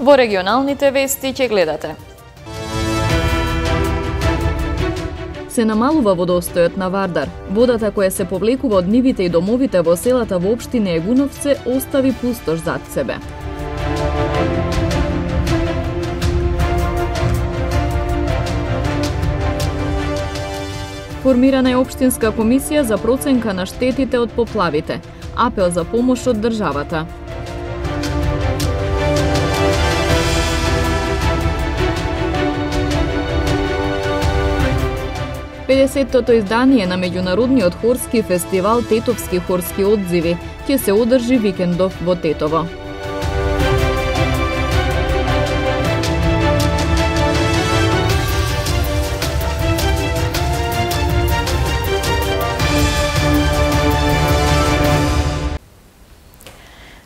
Во регионалните вести ќе гледате. Се намалува водостојот на Вардар. Водата која се повлекува од нивите и домовите во селата во општина Егуновце остави пустош зад себе. Формирана е општинска комисија за проценка на штетите од поплавите. Апел за помош од државата. Педесеттото издание на меѓународниот хорски фестивал Тетовски хорски одзиви ќе се одржи викендов во Тетово.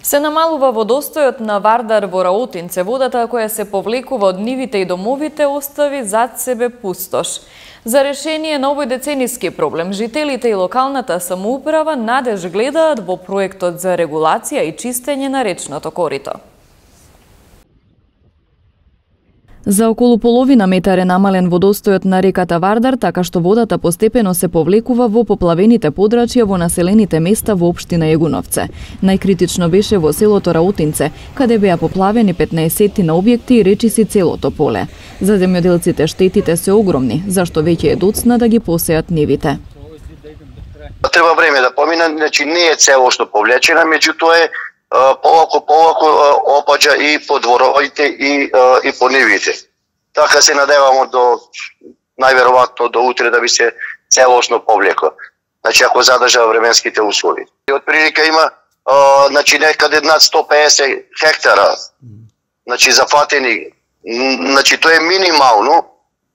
Се намалува водостојот на Вардар во Раутинце. Водата која се повлекува од нивите и домовите остави зад себе пустош. За решение на овој децениски проблем, жителите и локалната самоуправа надеж гледаат во проектот за регулација и чистење на речното корито. За околу половина метар е намален водостојот на реката Вардар, така што водата постепено се повлекува во поплавените подрачја во населените места во општина Егуновце. Најкритично беше во селото Раутинце, каде беа поплавени 15 на објекти и речиси целото поле. За земјоделците штетите се огромни, зашто веќе е доцна да ги посеат нивите. Треба време да помине, значи не е целосно повлечена, меѓутоа е полако опаѓа и по дворовите и по нивите. Така се надевамо до најверојатно до утре да би се целосно повлекло. Значи ако задржа временските услови. И од прилика има значи некаде над 150 хектара значи зафатени. Значи тоа е минимално,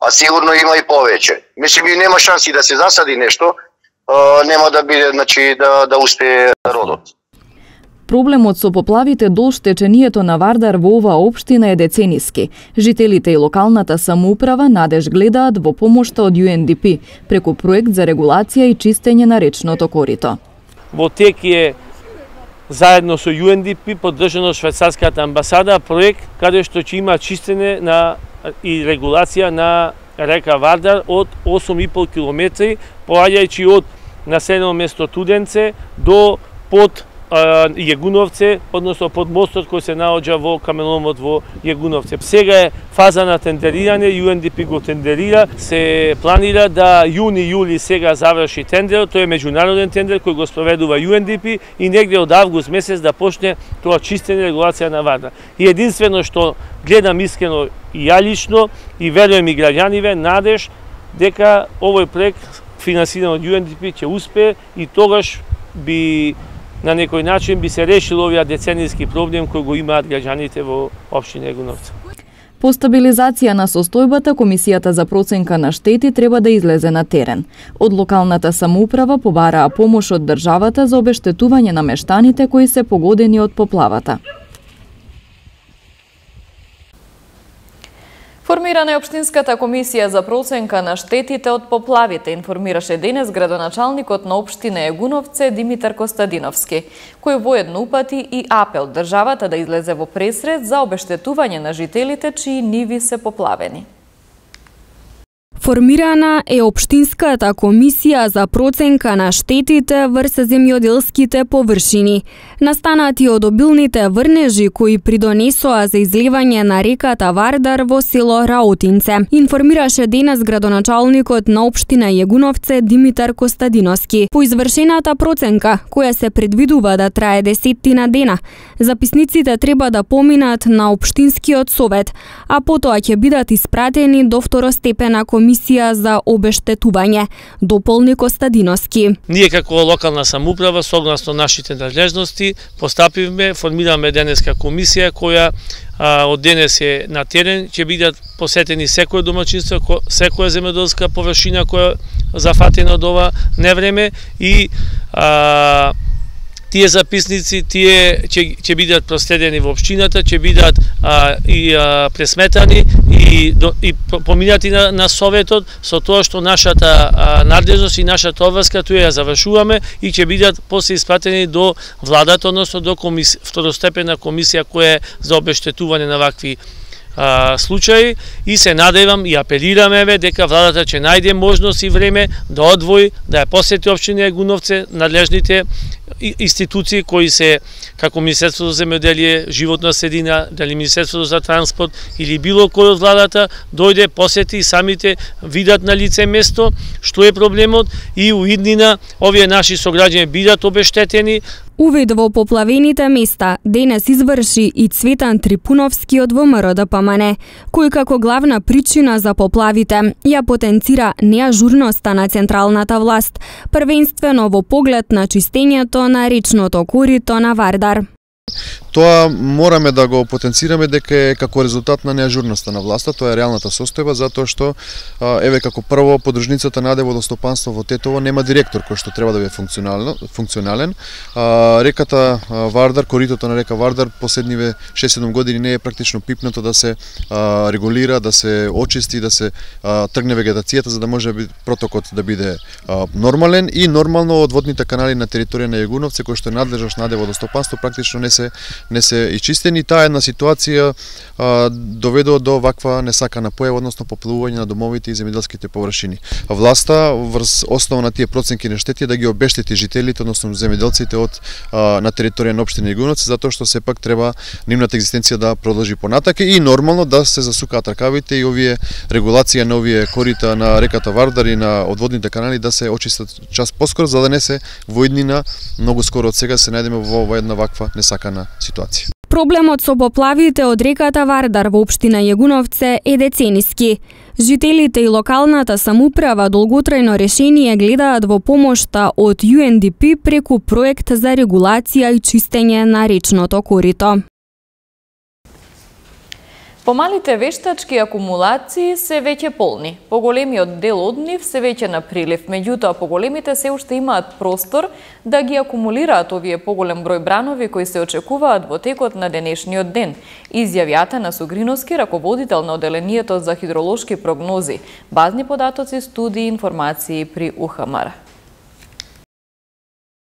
а сигурно има и повеќе. Мислим и нема шанси да се засади нешто, нема да биде значи да успее родот. Проблемот со поплавите до штечението на Вардар во оваа општина е децениски. Жителите и локалната самоуправа надеж гледаат во помошта од UNDP преку проект за регулација и чистење на речното корито. Во тек е заедно со UNDP поддржано швајцарската амбасада проект каде што ќе има чистење и регулација на река Вардар од 8,5 километри, поаѓајќи од населено место Туденце до под Јегуновце, односно под мостот кој се наоѓа во каменоломот во Јегуновце. Сега е фаза на тендерирање, UNDP го тендерира, се планира да јуни-јули сега заврши тендерот, тој е меѓународен тендер кој го спроведува UNDP и негде од август месец да почне тоа чистење регулација на Вардар. И единствено што гледам искрено и ја лично и верувам и граѓаниве надеж дека овој проект финансиран од UNDP ќе успее и тогаш би на некој начин би се решил овие децениски проблем кој го имаат граѓаните во општина Егуновце. По стабилизација на состојбата, Комисијата за проценка на штети треба да излезе на терен. Од локалната самоуправа побараа помош од државата за обештетување на мештаните кои се погодени од поплавата. Формирана е Општинската комисија за проценка на штетите од поплавите, информираше денес градоначалникот на општина Егуновце Димитар Костадиновски, кој воедно упати и апел државата да излезе во пресред за обештетување на жителите чии ниви се поплавени. Формирана е Општинската комисија за проценка на штетите врз земјоделските површини, настанати од обилните врнежи кои придонесоа за изливање на реката Вардар во село Раутинце, информираше денес градоначалникот на општина Егуновце Димитар Костадиновски. По извршената проценка, која се предвидува да трае 10 дена, записниците треба да поминат на Општинскиот совет, а потоа ќе бидат испратени до второстепена комисија за обештетување, дополни Костадиновски. Ние како локална самоуправа, согласно нашите надлежности, постапивме, формираме денеска комисија која од денес е на терен, ќе бидат посетени секој домаќинство, секоја земјоделска површина која зафатена од ова невреме и тие записници ќе бидат проследени во општината, ќе бидат пресметани и поминати на советот, со тоа што нашата надлежност и нашата обврска тука ја завршуваме и ќе бидат после испратени до владата, односно до второстепена комисија која е за обештетување на вакви случаи, и се надевам и апелираме дека владата ќе најде можност и време да одвои, да ја посети општина Егуновци, надлежните институции кои се како Министерството за земјоделие, животна средина, дали Министерството за транспорт или било кој од владата дојде, посети и самите видат на лице место што е проблемот и у иднина овие наши сограѓани бидат обештетени. Увид во поплавените места денес изврши и Цветан Трипуновски од ВМРО ДПМН, кој како главна причина за поплавите ја потенцира неажурноста на централната власт, првенствено во поглед на чистењето на речното корито на Вардар. Тоа мораме да го потенцираме дека е како резултат на неажурноста на власта, тоа е реалната состојба, затоа што еве како прво подружницата на водостопанство во Тетово нема директор кој што треба да биде функционален. Реката Вардар, коритото на река Вардар последниве 6-7 години не е практично пипнато да се регулира, да се очисти, да се тргне вегетацијата за да може протокот да биде нормален и нормално одводните канали на територија на Егуновци кој што е надлежност на водостопанство практично не се ичистени. Таа една ситуација доведува до ваква несакана појава, односно поплувување на домовите и земјоделските површини. Власта врз основа на тие проценки на штети да ги обештети жителите, односно земјоделците на територија на општина Егуновци, затоа што сепак треба нивната екзистенција да продолжи понатака и нормално да се засукаат ракавите и овие регулација на овие корита на реката Вардар и на одводните канали да се очистат час поскоро, за да не се во иднина многу скоро од сега се најдеме во една ваква несакана ситуација. Проблемот со поплавите од реката Вардар во општина Егуновци е децениски. Жителите и локалната самоуправа долготрајно решение гледаат во помошта од UNDP преку проект за регулација и чистење на речното корито. Помалите вештачки акумулации се веќе полни. Поголемиот дел од нив се веќе на прилив, меѓутоа поголемите се уште имаат простор да ги акумулираат овие поголем број бранови кои се очекуваат во текот на денешниот ден. Изјавјата на Сугриновски, раководител на одделението за хидролошки прогнози, базни податоци, студии, информации при УХМР.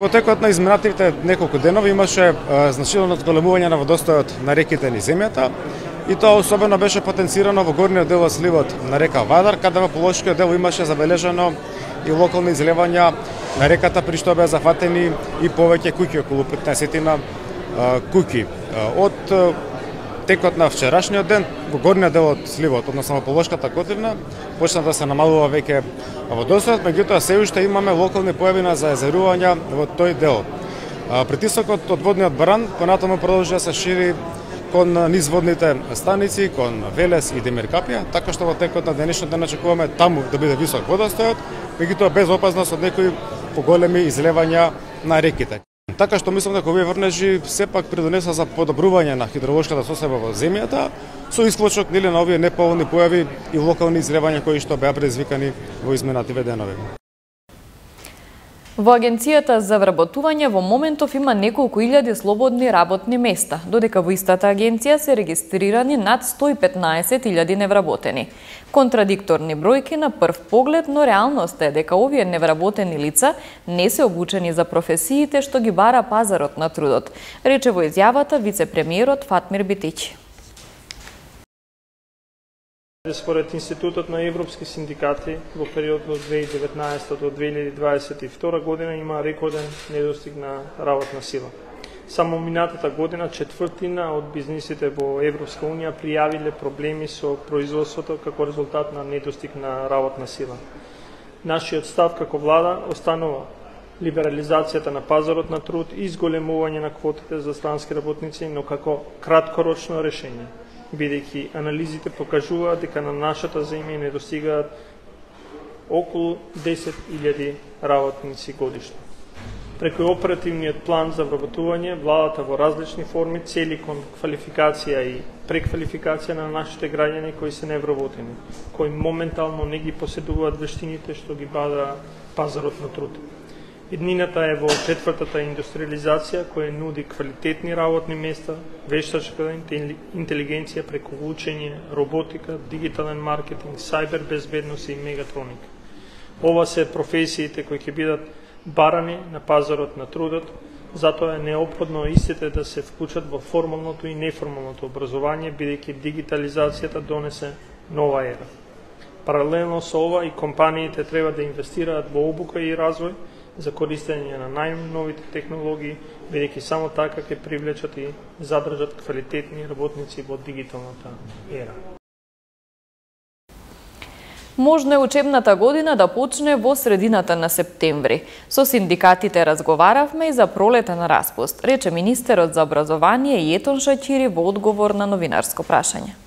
Во текот на изминативите неколку денови имаше значително зголемување на водостојот на реките низ земјата, и тоа особено беше потенцирано во горниот дел од сливот на река Вардар, каде во полошкиот дел имаше забележано и локални излевања на реката, при што беа зафатени и повеќе куќи, околу 15 куќи. Од текот на вчерашниот ден во горниот дел од сливот, односно во полошката котлина, почна да се намалува веќе водостојот, меѓутоа се уште имаме локални појави на заезерувања во тој дел. Притисокот од водниот баран понатаму продолжи да се шири кон низводните станици, кон Велес и Демиркапија, така што во текот на денешниот ден очекуваме таму да биде висок водостојот, меѓутоа без опасност од некои поголеми излевања на реките. Така што мислам дека овие врнежи сепак придонеса за подобрување на хидролошката состојба во земјата, со исклучок на овие неповолни појави и локални излевања кои што беа предизвикани во изминативе денови. Во Агенцијата за вработување во моментов има неколку илјади слободни работни места, додека во истата агенција се регистрирани над 115.000 невработени. Контрадикторни бројки на прв поглед, но реалност е дека овие невработени лица не се обучени за професиите што ги бара пазарот на трудот, рече во изјавата вице-премиерот Фатмир Битичи. Според Институтот на европски синдикати, во периодот од 2019 до 2022 година има рекорден недостиг на работна сила. Само минатата година четвртина од бизнисите во Европска унија пријавиле проблеми со производството како резултат на недостиг на работна сила. Нашиот став како влада останува либерализацијата на пазарот на труд и зголемување на квотите за странски работници, но како краткорочно решение, бидејќи анализите покажуваат дека на нашата земја недостигаат околу 10.000 работници годишно. Преку оперативниот план за вработување, владата во различни форми цели кон квалификација и преквалификација на нашите граѓани кои се невработени, кои моментално не ги поседуваат вештините што ги бада пазарот на труд. Иднината е во четвртата индустриализација која нуди квалитетни работни места, вештачка интелигенција преку учење, роботика, дигитален маркетинг, сајбер безбедност и мегатроника. Ова се професиите кои ќе бидат барани на пазарот на трудот, затоа е неопходно истите да се вклучат во формалното и неформалното образование, бидејќи дигитализацијата донесе нова ера. Паралелно со ова и компаниите треба да инвестираат во обука и развој за користење на најновите технологии, бидејќи само така ќе привлечат и задржат квалитетни работници во дигиталната ера. Можно е учебната година да почне во средината на септември. Со синдикатите разговаравме и за пролетен распуст, рече министерот за образование Јетон Шаќири во одговор на новинарско прашање.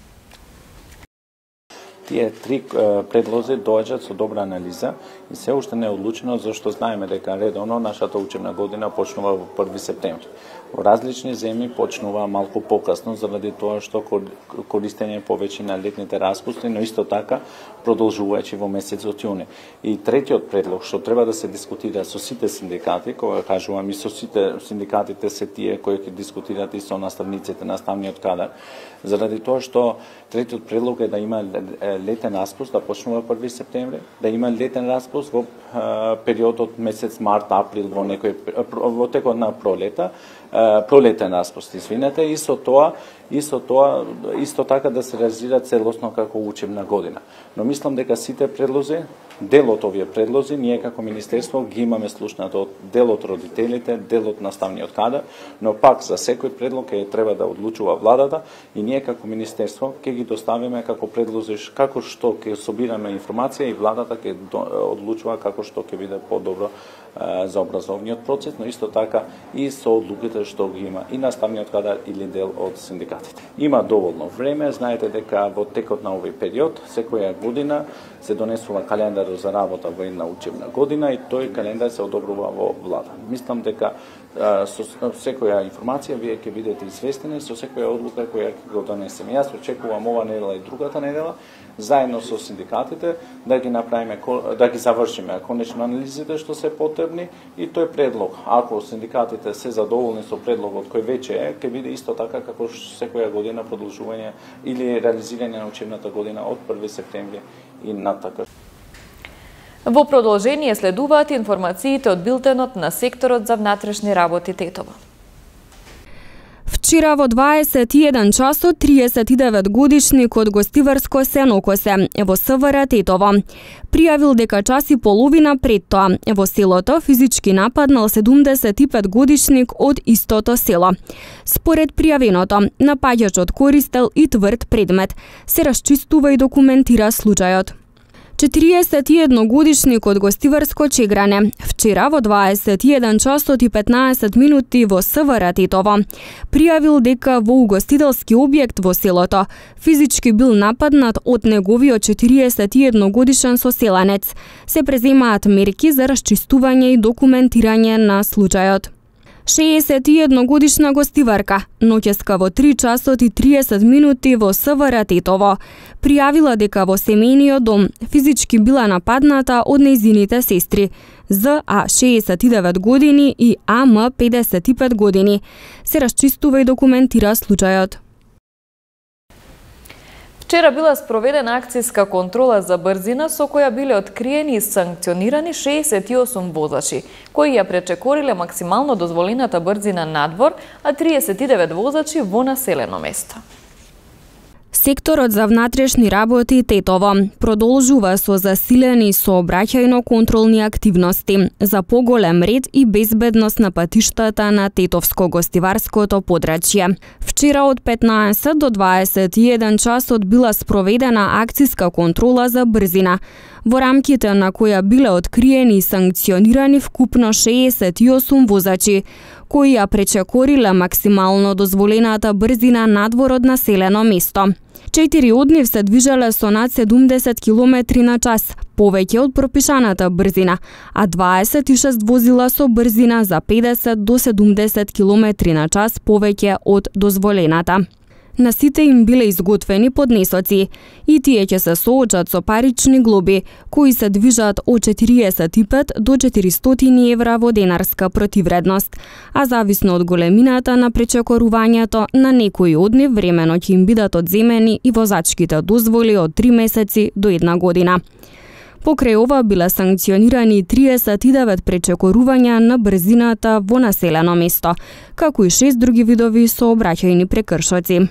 Тие три предлози доаѓаат со добра анализа и се уште не е одлучено, зашто знаеме дека редовно нашата учебна година почнува во 1 септември. Во различни земји почнува малку покасно заради тоа што користење повеќе на летните распусти, но исто така продолжувајќи во месецот јуни. И третиот предлог што треба да се дискутира со сите синдикати, кога кажувам и со сите синдикатите се тие кои ќе дискутираат и со наставниците, наставниот кадар, заради тоа што третиот предлог е да има летен распуст, да почнува 1 септември, да има летен распуст во периодот месец март, април, во текот на пролетен распуст, извинете, и со тоа исто така да се реализира целосно како учебна година. Но мислам дека сите предлози, дел од овие предлози, ние како министерство ги имаме слушнато од дел од родителите, дел од наставниот кадар, но пак за секој предлог треба да одлучува владата и ние како министерство ќе ги доставиме како предлози како што ќе собираме информација и владата ќе одлучува како што ќе биде подобро за образовниот процес, но исто така и со одлуките што ги има и наставниот кадар или дел од синдикатите. Има доволно време, знаете дека во текот на овој период секоја година се донесува календар за работа во една учебна година и тој календар се одобрува во влада. Мислам дека со секоја информација вие ќе бидете известени, со секоја одлука која ќе го донесеме. Јас очекувам ова недела и другата недела заедно со синдикатите да ги направиме, да ги завршиме конечно анализите што се потребни и тој предлог. Ако синдикатите се задоволни со предлогот кој веќе е, ќе биде исто така како секоја година продолжување или реализирање на учебната година од 1 септември и натака. Во продолжение следуваат информациите од билтенот на секторот за внатрешни работи Тетово. Вчера во 21 часот 39 годишник од гостиварско Сенокосе во СВР Тетово пријавил дека час и половина пред тоа во селото физички нападнал 75 годишник од истото село. Според пријавеното, напаѓачот користел и тврд предмет. Се расчистува и документира случајот. 41 годишник од гостиварско Чегране вчера во 21 часот и 15 минути во СВР Тетово пријавил дека во угостителски објект во селото физички бил нападнат од неговиот 41 годишен соселанец. Се преземаат мерки за расчистување и документирање на случајот. 61 годишна гостиварка, ноќеска во 3 часот и 30 минути во СВР Тетово, пријавила дека во семејниот дом физички била нападната од нејзините сестри, ЗА 69 години и АМ 55 години. Се расчистува и документира случајот. Вчера била спроведена акцијска контрола за брзина со која биле откриени и санкционирани 68 возачи, кои ја пречекориле максимално дозволената брзина надвор, а 39 возачи во населено место. Секторот за внатрешни работи Тетово продолжува со засилени сообраќајно-контролни активности за поголем ред и безбедност на патиштата на Тетовско-гостиварското подрачје. Вчера од 15 до 21 часот била спроведена акцијска контрола за брзина, во рамките на која биле откриени и санкционирани вкупно 68 возачи, кои ја пречекориле максимално дозволената брзина надвор од населено место. 4 од нив се движеле со над 70 км на час, повеќе од пропишаната брзина, а 26 возила со брзина за 50 до 70 км на час повеќе од дозволената. На сите им биле изготвени поднесоци и тие ќе се соочат со парични глоби, кои се движат од 45 до 400 евра во денарска противредност, а зависно од големината на пречекорувањето, на некои од нив времено ќе им бидат одземени и возачките дозволи од 3 месеци до 1 година. Покрај ова биле санкционирани 39 пречекорувања на брзината во населено место, како и 6 други видови сообраќајни прекршоци.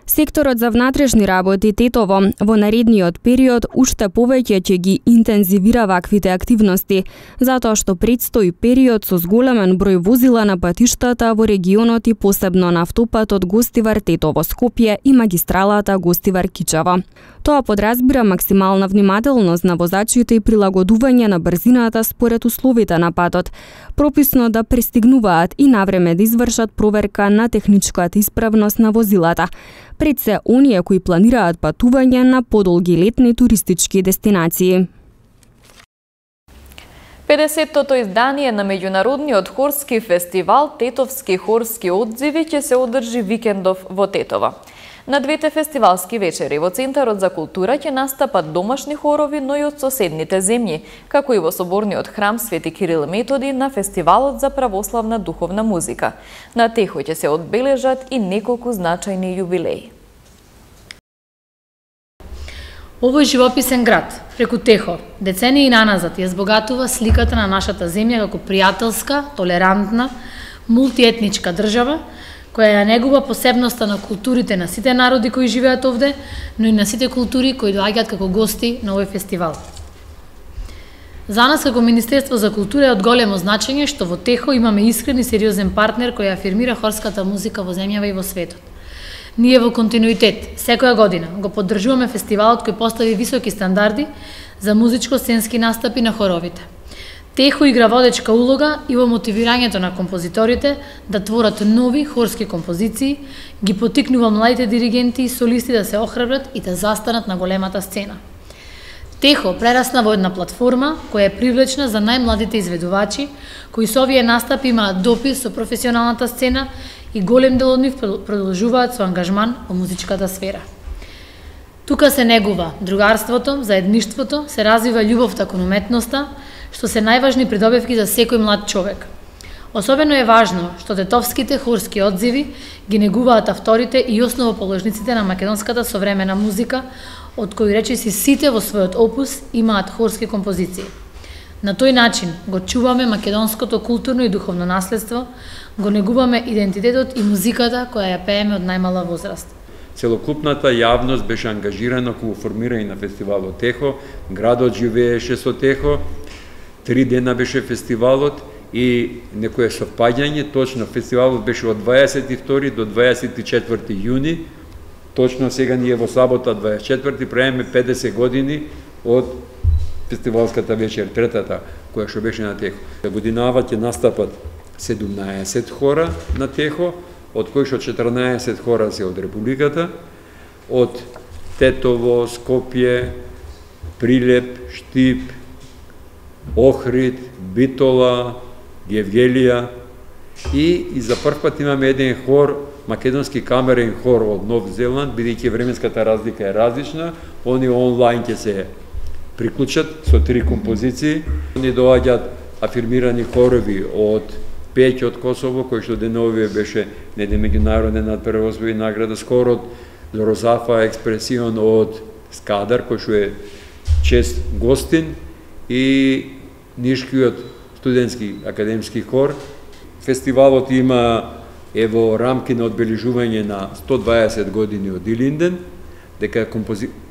Секторот за внатрешни работи Тетово во наредниот период уште повеќе ќе ги интензивира ваквите активности, затоа што предстои период со зголемен број возила на патиштата во регионот и посебно на автопатот Гостивар-Тетово Скопје и магистралата Гостивар-Кичево. Тоа подразбира максимална внимателност на возачите и прилагодување на брзината според условите на патот, прописно да пристигнуваат и навреме да извршат проверка на техничката исправност на возилата, пред се оние кои планираат патување на подолги летни туристички дестинации. 50-тото издание на меѓународниот хорски фестивал Тетовски хорски одзиви ќе се одржи викендов во Тетово. На двете фестивалски вечери во Центарот за култура ќе настапат домашни хорови, но и од соседните земји, како и во соборниот храм Свети Кирил и Методи на Фестивалот за православна духовна музика. На Техо ќе се одбележат и неколку значајни јубилеи. Овој живописен град, преку Техо, децении наназад ја збогатува сликата на нашата земја како пријателска, толерантна, мултиетничка држава, која ја негува посебноста на културите на сите народи кои живеат овде, но и на сите култури кои доаѓаат како гости на овој фестивал. За нас како Министерство за култура е од големо значење што во Техо имаме искрен и сериозен партнер кој афирмира хорската музика во земјава и во светот. Ние во континуитет, секоја година, го поддржуваме фестивалот кој постави високи стандарди за музичко-сценски настапи на хоровите. Техо игра водечка улога и во мотивирањето на композиторите да творат нови хорски композиции, ги потикнува младите диригенти и солисти да се охрабрат и да застанат на големата сцена. Техо прерасна во една платформа која е привлечна за најмладите изведувачи, кои со овие настапи имаат допир со професионалната сцена и голем дел од нив продолжуваат со ангажман во музичката сфера. Тука се негува другарството, заедништвото, се развива љубовта кон уметноста, што се најважни придобивки за секој млад човек. Особено е важно што тетовските хорски одзиви ги негуваат авторите и основоположниците на македонската современа музика, од кои речиси сите во својот опус имаат хорски композиции. На тој начин го чуваме македонското културно и духовно наследство, го негуваме идентитетот и музиката која ја пееме од најмала возраст. Целокупната јавност беше ангажирана кога формирање на фестивалот Техо, градот живееше со Техо, 3 дена беше фестивалот и некое совпаѓање, точно фестивалот беше од 22 до 24 јуни, точно сега ние во сабота 24 правиме 50 години од фестивалската вечер, третата, која што беше на Техо. Годинава ќе настапат 17 хора на Техо, од кои што 14 хора се од Републиката, од Тетово, Скопје, Прилеп, Штип, Охрид, Битола, Гевгелија и за прв пат имаме еден хор, македонски камерен хор од Нов Зеланд, бидејќи временската разлика е различна, они онлайн ќе се приклучат со 3 композиции. Они доаѓаат афирмирани хорови од Пеќ од Косово, кој што деновиве беше неден меѓународен надпревозбови награда, скоро од Розафа Експресион од Скадар, кој што е чест гостин, и Нишкиот студентски академски хор. Фестивалот има во рамки на одбележување на 120 години од Илинден, дека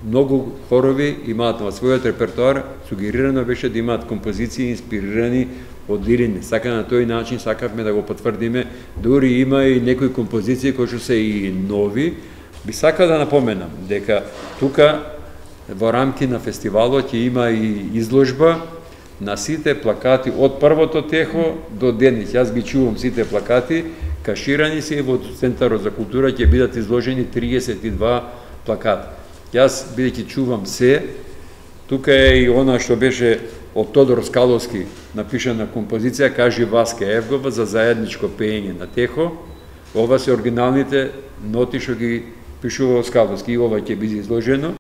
многу хорови имаат во својот репертоар, сугерирано беше да имаат композиции инспирирани од Илинден. Сака на тој начин сакавме да го потврдиме, дури има и некои композиции кои што се и нови. Би сакал да напоменам дека тука во рамки на фестивалот ќе има и изложба на сите плакати од првото Техо до денес. Јас ги чувам сите плакати, каширани се и во Центарот за култура ќе бидат изложени 32 плаката. Јас, бидејќи чувам се, тука е и она што беше од Тодор Скаловски напишана композиција, кажи Васке Евгова за заедничко пеење на Техо. Ова се оригиналните ноти што ги пишува Скаловски и ова ќе биде изложено.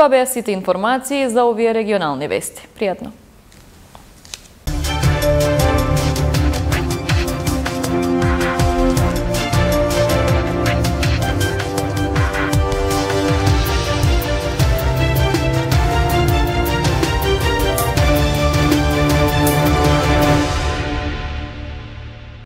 Тоа беа сите информации за овие регионални вести. Пријатно!